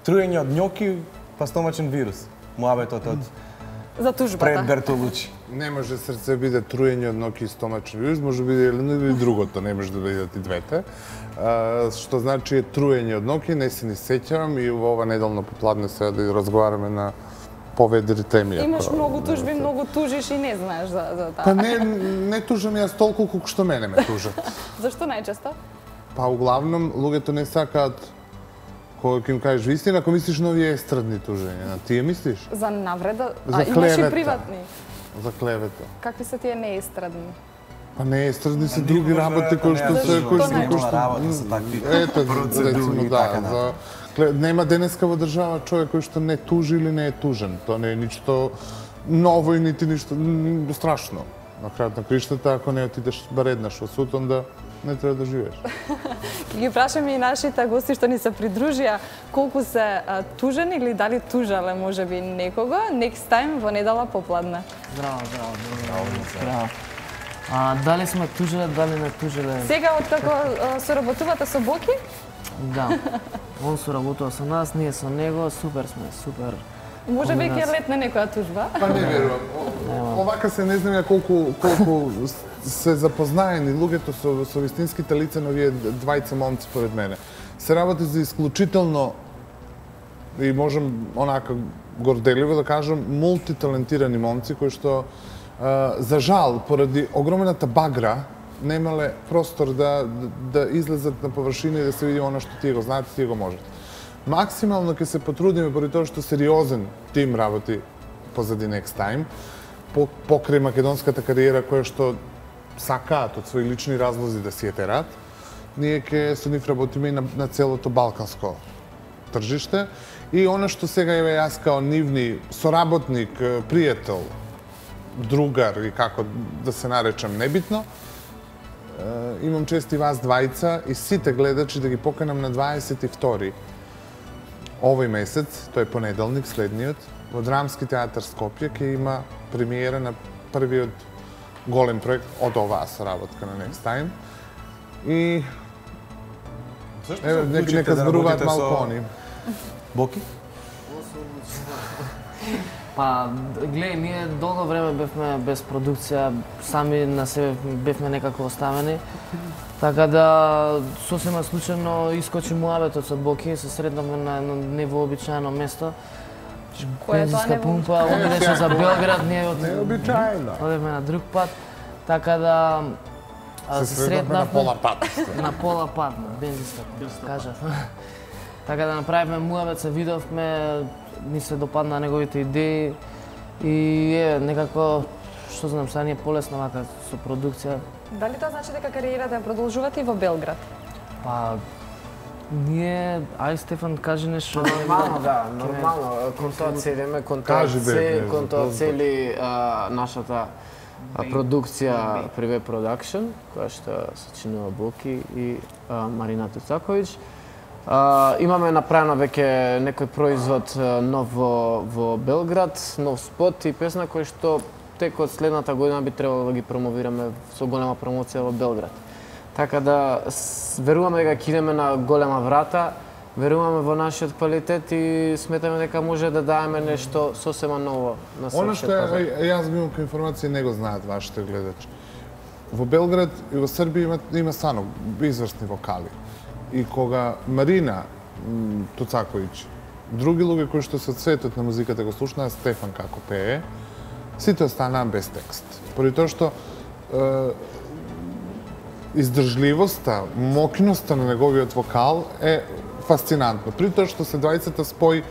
Труење од њоки, па стомачен вирус. Муабетот од За тужбата. пред Бертолучи. Не може срце биде труење од ноки и стомачен вирус, може биде или другото, не може да бидат и двете. Што значи труење од ноки, не се ни сеќавам и во ова неделно попладне сега да разговараме на поведри теми. Имаш многу тужби, многу тужиш и не знаеш за таа. Па не тужам јас толку колку што мене ме тужат. Зашто најчесто? Па углавном луѓето не сакаат кога ќе им кажеш вистина, ако мислиш на овие естрадни тужења, тие мислиш? За навреда, За имаш и клевета. приватни. За клевета. Какви се тие неестрадни? Па не естрадни се други работи кои што се работа со такви ето процедури рецимо и така натаму. нема денеска во држава човек кој што не тужи или не е тужен. Тоа не е ништо ново и нити ништо страшно. На крајот на криштата, ако не отидеш бар еднаш во суд, онда не треба да живееш. Ќе ги прашаме и нашите гости што ни се придружија колку се тужени или дали тужале можеби некого. Next time во недела попладне. Здраво. Дали сме тужиле, дали не тужиле? Сега откако соработувате со Боки? Да. Он соработува со нас, ние со него, супер сме, супер. Можеби ќе летне некоја тужба? Па не верувам. Овака се не знам ја колку се запознаени луѓето со вистинските лица на овие двајца момци поред мене. Се работи за исклучително и можам онака горделиво да кажам мултиталентирани момци кои што за жал поради огромената багра немале простор да излезат на површина и да се види она што тие го знаат и тие го можат. Максимално ќе се потрудиме поради тоа што сериозен тим работи позади Next Time, покрај македонската кариера која што сакаат од своји лични разлози да си ја терат, ние ќе со нив работиме и на целото балканско тржиште. И она што сега еве јас као нивни соработник, пријател, другар и како да се наречам небитно, имам чест и вас двајца и сите гледачи да ги поканам на 22 овој месец, тој понеделник, следниот, во Драмски театар Скопје ќе има премиера на првиот голем проект од оваа соработка на Next Time. И нека зборуваат малку они. Боки? Па, гледај, ние долго време бевме без продукција, сами на себе бевме некако оставени. Така да, сосема случајно искочи муабетот со Боки, се сретнавме на едно невообичаено место. Бензинска пумпа, он идеше за Белград, ние одевме на друг пат. Така да се сретнавме на пола пат. На пола пат, на бензинска пумпа, кажав. Така да направивме муабет, се видовме, ни се допадна неговите идеи и некако, што знам, сега ни е полесно вака со продукција. Дали тоа значи дека кариерата ја продолжувате и во Белград? Па, ние, ај Стефан, кажи нешто. Нормално, да, нормално. Кон тоа целиме, кон тоа цели нашата продукција Приве Продакшн, која што се чинува Боки и Марина Туцаковиќ. Имаме направено веќе некој производ нов во Белград, нов спот и песна кој што текот следната година би требало да ги промовираме со голема промоција во Белград. Така да веруваме дека ќе идеме на голема врата, веруваме во нашиот квалитет и сметаме дека може да дадеме нешто сосема ново на српскиот Она што јас имам како информација не го знаат вашите гледачи. Во Белград и во Србија има стварно изврсни вокали. И кога Марина Туцаковиќ, други луѓе кои што се од светот на музиката го слушнаа Стефан како пее, сите останаа без текст. Поради тоа што издржливоста, мокиноста на неговиот вокал е фасцинантно. При тоа што се двајцата спои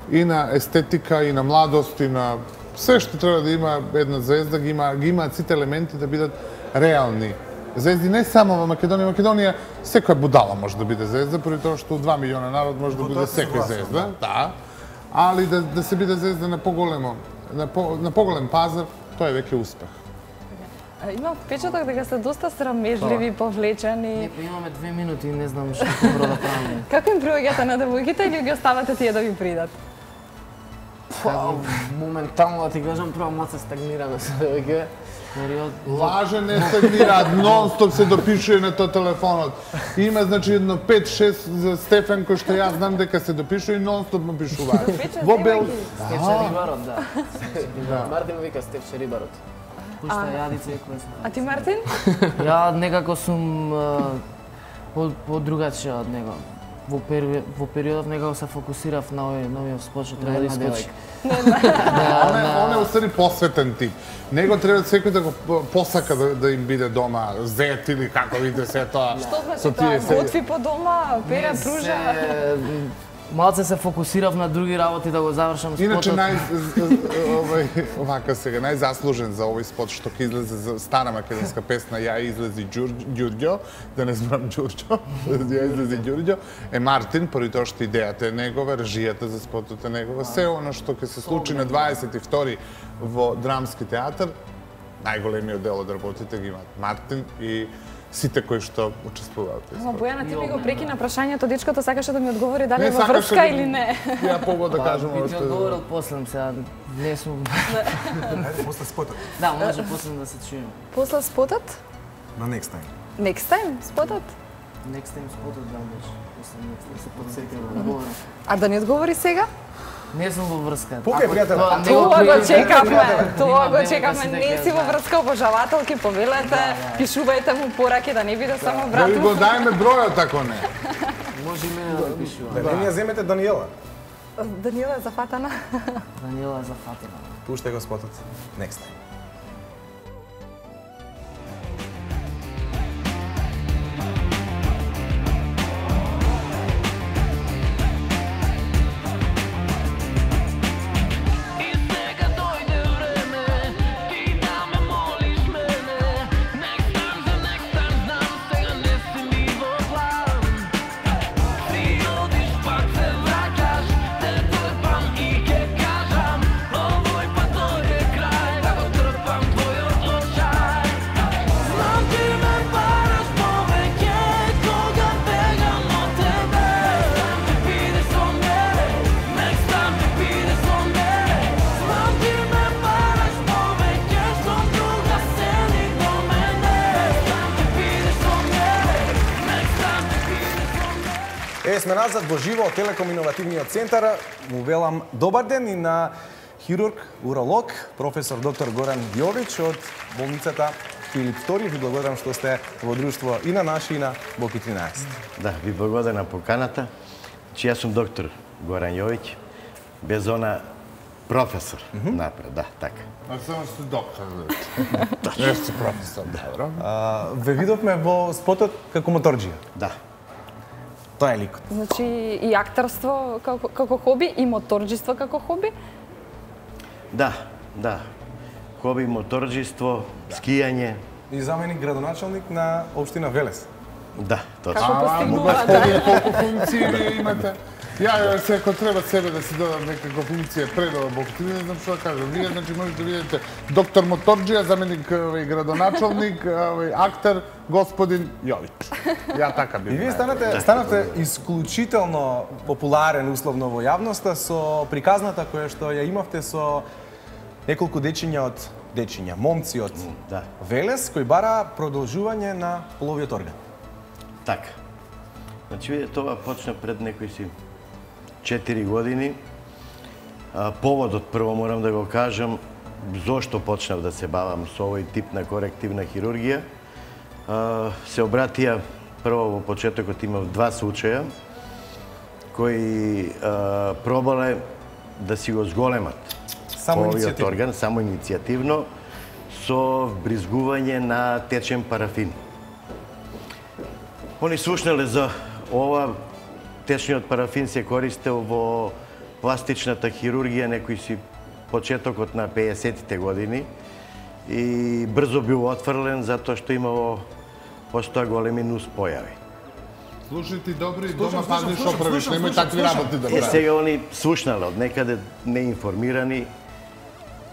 и на естетика, и на младост, и на се што треба да има една звезда, ги имаат сите елементи да бидат реални звезди, не само во Македонија. Македонија секоја будала може да биде звезда, поради тоа што 2 милиона народ може да биде секоја звезда, да. Али да се биде звезда на поголем пазар, тоа е веќе успех. Имам впечаток дека сте доста срамежливи, повлечени. Не, имаме 2 минути и не знам што добро да правиме. Како им приоѓате на девојките или ги оставате тие да ви придат? Моментално да ти кажам, прво малце стагнираме со девојките. период... Лаже не се мираат, нон-стоп се допишува на тој телефонот. Има, значи, едно 5-6 за Стефан, кој што јас знам дека се допишува и нон-стоп му пишуваат. Во Бел... Стефче Рибарот, да. Мартин вика Стефче Рибарот. Пушта јадица и кој А ти, Мартин? Ја некако сум по-другачија од него. Во периодов некако се фокусирав на новиот спот што треба да искочи. Он е устари посветен тип. Него треба секој да го посака да им биде дома зет или како видите се тоа. Што значи тоа? Готви по дома, пере, пружа? Малце се фокусирав на други работи да го завршам спотот. Иначе овака сега најзаслужен за овој спот што ќе излезе за стара македонска песна Ја излези Ѓурѓо, да не збрам Ѓурѓо, Ја излези Ѓурѓо, е Мартин, поради тоа што идејата е негова, режијата за спотот е негова, се оно што ќе се случи на 22 во Драмски театар, најголемиот дел од работите ги имаат Мартин и сите кои што учествуваат. Бојана, ти ми го прекина прашањето, дечкото сакаше да ми одговори дали е во врска или не. Ја пога да кажам Би ти одговорил после сега, не сум... Ајде, после спотот. Да, може после да се чуем. После спотот? На next time. Next time, спотот? Next time спотот да може. После next time се подсетим да говорам. А да не одговори сега? Не сум во врска. Покај, пријателе. Тоа го чекавме, не си во врска, обожавателки, повелете, пишувајте му пораки да не биде само брат. Да ви го дајме бројот ако не. Може и мене да пишува. Да не ја земете Даниела. Даниела е зафатана. Даниела е зафатена. Пуштај го спотот. Next time. Сме назад во живо од Телеком Иновативниот центар. Му велам добар ден и на хирург, уролог, професор доктор Горан Јович од болницата Филип II. Ви благодарам што сте во друштво и на наши и на Боки 13. Да, ви благодарам на поканата. Че јас сум доктор Горан Јович, без она професор напред, да, така. А само сте доктор. Не сте професор, добро. Ве видовме во спотот како моторџија. Да. Тоа е ликот. Значи и актерство како хоби и моторџиство како хоби? Да, да. Хоби, моторџиство, скијање. И заменик градоначалник на општина Велес. Да, точно. Како постигнува, да. Колку функции ви имате? Ја се ако треба себе да си додам некако функција пред ова Бог, не знам што да кажам. Вие значи можете да видите доктор моторџија, заменик градоначалник, актер господин Јович. Ја така би. И вие станавте исклучително популарен условно во јавноста со приказната која што ја имавте со неколку момци од Велес кои бара продолжување на половиот орган. Така. Значи, виде, тоа почна пред некои си 4 години. Поводот, прво морам да го кажам, зошто почнав да се бавам со овој тип на корективна хирургија. Се обратија, прво во почетокот имав 2 случаја, кои пробале да си го зголемат половиот орган, само иницијативно, со вбризгување на течен парафин. Они слушнале за ова. Течниот парафин се користел во пластичната хирургија некој си почетокот на 50-тите години и брзо бил отфрлен затоа што имало постоја големи нус појави. Слушајте добри, дома пазни што правиш, немој такви работи да правиш. Сега они слушнале од некаде неинформирани,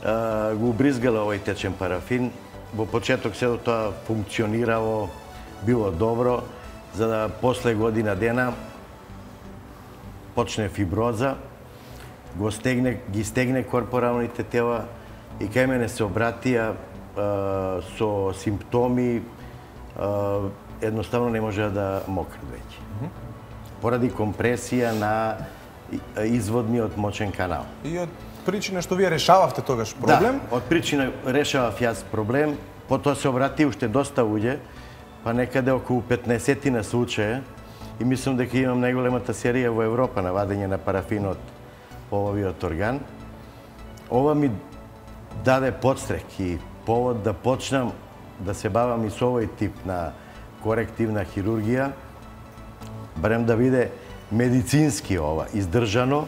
го убризгале овој течен парафин. Во почеток се тоа функционирало, било добро, за да после година дена почне фиброза, ги стегне корпоралните тела и кај мене се обратија со симптоми едноставно не може да мократ веќе. Поради компресија на изводниот мочен канал. И од причина што вие решававте тогаш проблем? Да, од причина решавав јас проблем, потоа се обрати уште доста луѓе, па некаде околу 15 случаја, и мислам дека имам најголемата серија во Европа на вадење на парафин од половиот орган. Ова ми даде подстрек и повод да почнам да се бавам и со овој тип на корективна хирургија, барем да биде медицински ова, издржано,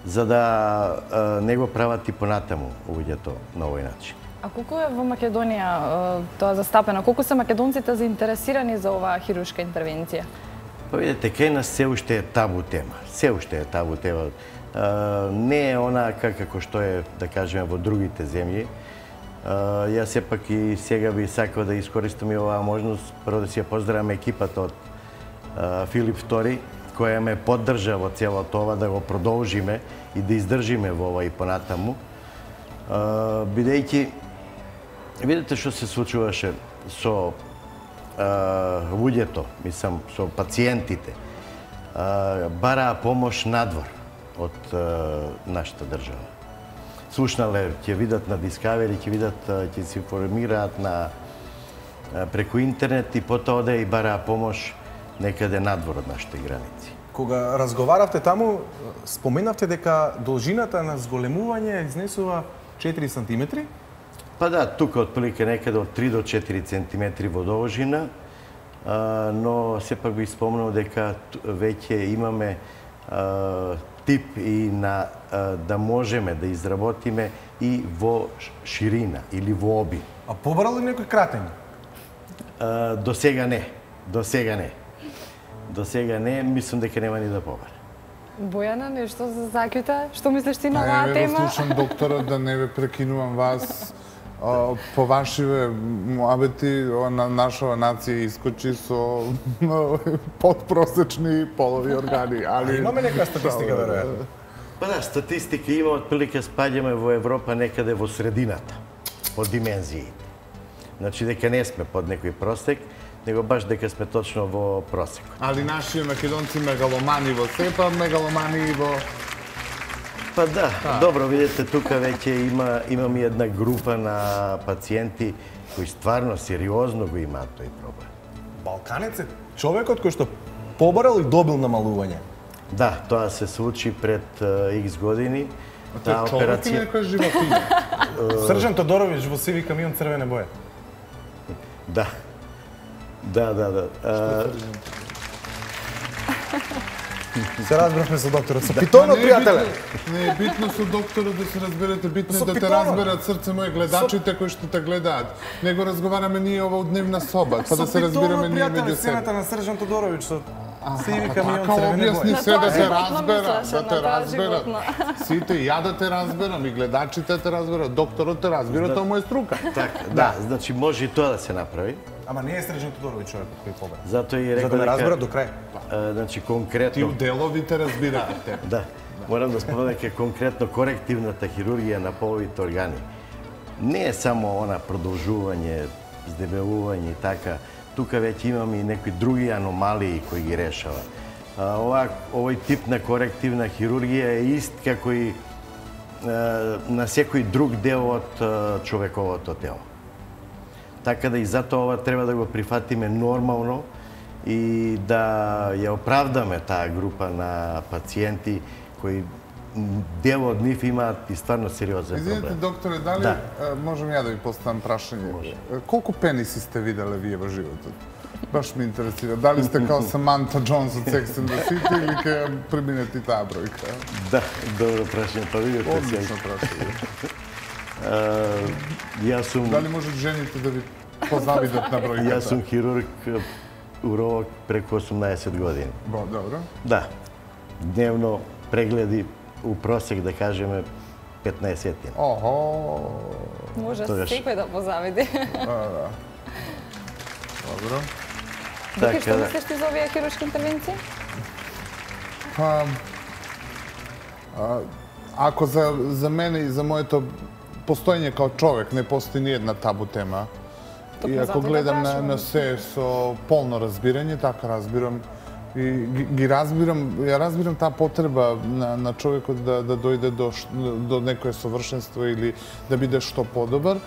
за да не го прават и понатаму луѓето на овој начин. А колку е во Македонија тоа застапено? Колку се македонците заинтересирани за оваа хируршка интервенција? Па видите, кај нас се уште е табу тема. Се уште е табу тема. Не е она како што е, да кажеме, во другите земји. Јас сепак и сега би сакал да искористам и оваа можност, прво да си ја поздравам екипата од Филип II, која ме поддржа во целото ова, да го продолжиме и да издржиме во ова и понатаму. Бидејќи, видите што се случуваше со луѓето, мислам, со пациентите, бараа помош надвор од нашата држава. Слушнале, ќе видат на Discovery, ќе видат, ќе се информираат преку интернет и потоа оде и бараа помош некаде надвор од нашите граници. Кога разговаравте таму, споменавте дека должината на зголемување изнесува 4 сантиметри? Па да, тука отприлike некаде од 3 до 4 сантиметри во должина, но сепак би спомнал дека веќе имаме тип и на да можеме да изработиме и во ширина или во обим. А побрал ли некој кратење? До сега не. До сега не. До сега не, мислам дека нема ни да побара. Бојана, нешто за заклjuta? Што мислиш ти на оваа тема? Ја го слушам докторот, да не ве прекинувам вас. По вашиве муабети, нашава нација искочи со подпросечни полови органи. Али имаме нека статистика, веројатно? Па да, статистика има, отприлike спаѓаме во Европа некаде во средината, по димензии. Значи дека не сме под некој просек, него баш дека сме точно во просек. Али нашите македонци мегаломани во сепа, мегаломани и во... Па да, добро, видите, тука веќе имам и една група на пациенти кои стварно сериозно го имаат тој проблем. Балканец е човекот кој што побарал и добил намалување. Да, тоа се случи пред X години. Таа операција... Човек или некоја животина? Сржан Тодоровиќ во сиви камион црвене боја. Да. Да. Се разбравме со докторот. Со питонот, пријателе. Не е битно со докторот да се разберете, битно е да те разберат, срце моје, гледачите кои што те гледаат. Не го разговараме ние ова у дневна соба, па да се разбираме ние меѓу себе. Сцената на Сржан Тодоровиќ со сиви камион така црвене боја. објасни се да те разберат, да те разберат. Сите, ја да те разберам, и гледачите те разберат, докторот те разбира, тоа му е струка. Така, да, значи може и тоа да се направи. Ама не е Сржан Тодоровиќ човекот кој побара. Затоа и рекол дека... За да ме разберат до крај. Значи конкретно... Ти у деловите разбираате. Да. Морам да спомнам дека конкретно корективната хирургија на половите органи не е само она продолжување, здебелување и така. Тука веќе имаме и некои други аномалии кои ги решава. Овој тип на корективна хирургија е ист како и на секој друг дел од човековото тело. Така да и затоа ова треба да го прифатиме нормално и да ја оправдаме таа група на пациенти кои дел од нив имаат и стварно сериозен проблем. Извинете, докторе, дали можам ја да ви поставам прашање? Колку пениси сте виделе вие во животот? Баш ме интересира. Дали сте као Саманта Джонс од Sex and the City или ќе преминете таа бројка? Да, добро прашање, па видите се. Одлично прашање. Јас сум... Дали може жените да ви позавидат на бројката? Јас сум хирург, уролог преку 18 години. Добро. Да. Дневно прегледи у просек, да кажеме, 15-тина. Охо! Може секој да позавиди. Да. Добро. Доки, што мислиш ти за овие хируршки интервенции? Па, ако за мене и за моето постоење као човек, не постои ни една табу тема. И ако гледам на се со полно разбирање, така разбирам, и ги разбирам, ја разбирам таа потреба на човекот да дојде до некое совршенство или да биде што подобар.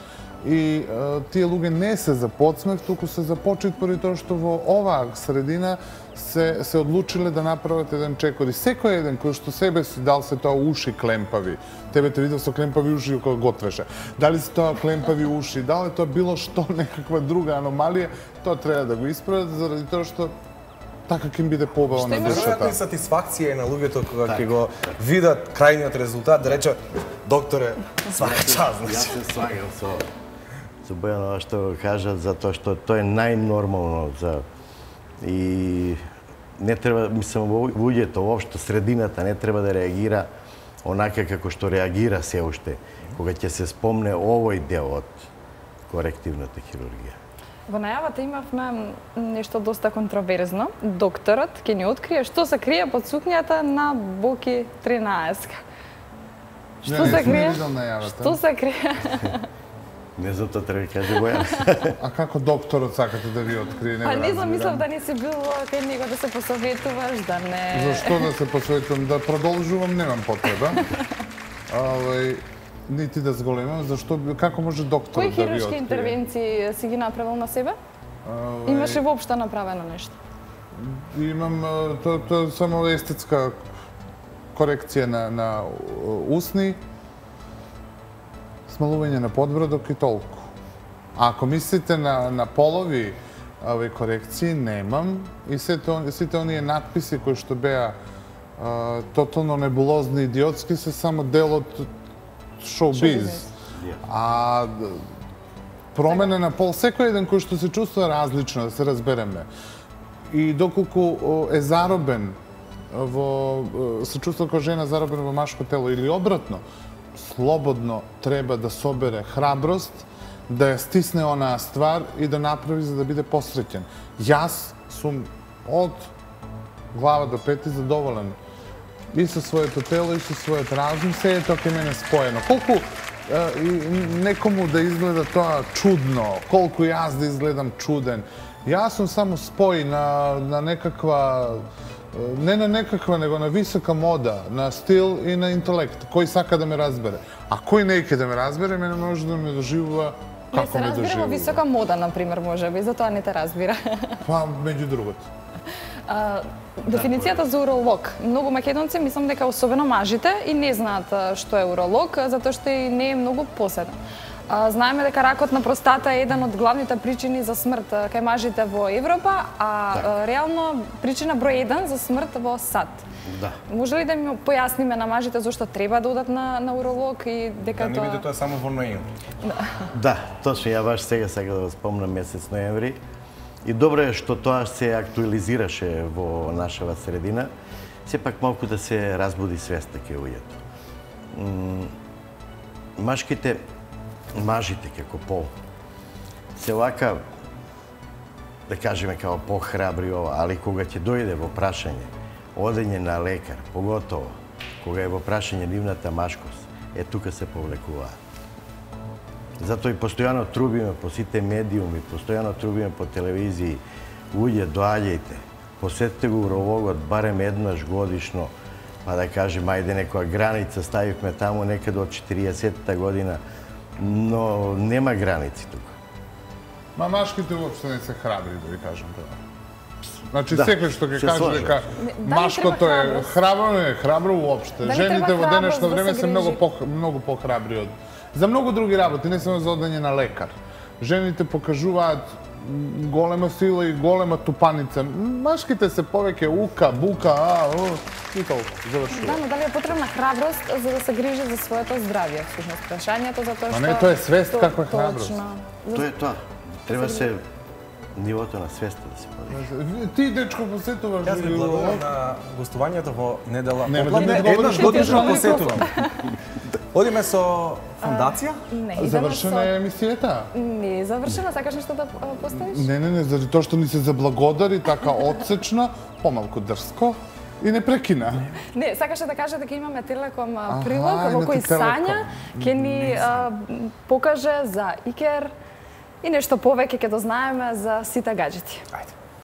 И тие луѓе не се за подсмех, туку се за почит, поради тоа што во оваа средина се одлучиле да направат еден чекор. И секој еден кој што себе си дал се тоа уши клемпави. Тебе те видел со клемпави уши кога готвеше. Дали се тоа клемпави уши, дали тоа било што некаква друга аномалија, тоа треба да го исправат заради тоа што така ќе им биде побава на душата. Што е сатисфакција на луѓето кога ќе го видат крајниот резултат, да рече, докторе, свака час. Јас се слагам со Бојано што го кажат, затоа што тоа е најнормално и не треба, мислам, луѓето, воопшто средината не треба да реагира онака како што реагира се уште, кога ќе се спомне овој дел од корективната хирургија. Во најавата имавме нешто доста контроверзно. Докторот ќе ни открие што се крие под сукњата на Боки 13. Што се крие? Што се крие? Не за тоа треба да каже Бојан. А како докторот сакате да ви открие? Па не знам, мислам да не си бил кај него да се посоветуваш, да не... Зашто да се посоветувам? Да продолжувам, немам потреба. Нити да зголемам, зашто, како може докторот да ви открие? Кои хируршки интервенции си ги направил на себе? Имаше воопшто направено нешто? Имам, тоа само естетска корекција на усни, смалување на подбрадок и толку. А ако мислите на полови корекции, немам. И сите оние надписи кои што беа тотално небулозни и идиотски се само дел од шоу-биз. А промена на пол, секој еден кој што се чувствува различно, да се разбереме. И доколку е заробен се чувствува како жена заробена во машко тело или обратно, слободно треба да собере храброст, да ја стисне онаа ствар и да направи за да биде посреќен. Јас сум од глава до пети задоволен и со своето тело и со својот разум, се е тоа кај мене споено. Колку некому да изгледа тоа чудно, колку јас да изгледам чуден, јас сум само спој на некаква, не на некаква, него на висока мода, на стил и на интелект. Кој сака да ме разбере. А кој не ике да ме разбере, мене може да ме доживува како ме доживува. Не се разбира во висока мода, например, може би, затоа не те разбира. Па, меѓу другото. Дефиницијата за уролог. Многу македонци мислам дека особено мажите и не знаат што е уролог, затоа што и не е многу поседен. Знаеме дека ракот на простата е еден од главните причини за смрт кај мажите во Европа, а реално причина број 1 за смрт во САД. Да. Може ли да ми појасниме на мажите зошто треба да одат на уролог и дека тоа... Не биде тоа само во ноември. Да, точно, ја баш сега сакам да спомнам месец ноември. И добро е што тоа се актуализираше во нашава средина, сепак малку да се разбуди свеста кај луѓето. Мажите како пол се лака, да кажеме, како похрабри ова, али кога ќе дојде во прашање одење на лекар, поготово кога е во прашање нивната машкост, тука се повлекуваат. Затоа и постојано трубиме по сите медиуми, постојано трубиме по телевизии, луѓе, доаѓајте, посетете го урологот барем еднаш годишно, па да кажем, ајде некоја граница ставивме таму некаде од 40-та година, но нема граници тука. Ма машките уопште не се храбри, да ви кажам тоа. Значи, секој што ќе каже дека машкото е храбро, не е храбро уопште. Жените во денешно време се многу похрабри од... За многу други работи, не само за одење на лекар. Жените покажуваат голема сила и голема тупаница. Машките се повеќе ука, бука, и толку. Завршува. Да, но дали е потребна храброст за да се грижи за своето здравје, всушност прашањето, затоа што... А не, тоа е свест како е храброст. Тоа е тоа. Треба се нивото на свеста да се подига. Ти, дечко, посетуваш... Јас ви благодарам на гостувањето во недела. Еднаш годишно посетувам. Одиме со фондација? Не, завршена е емисијата? Не е завршена, сакаш нешто да поставиш? Не, заради тоа што ни се заблагодари така отсечно, помалку дрско. И не прекина. Не, сакаше да каже дека имаме Телеком прилог во кој Сања ќе ни покаже за Икер и нешто повеќе ќе дознаеме за сите гаджети. Ајде.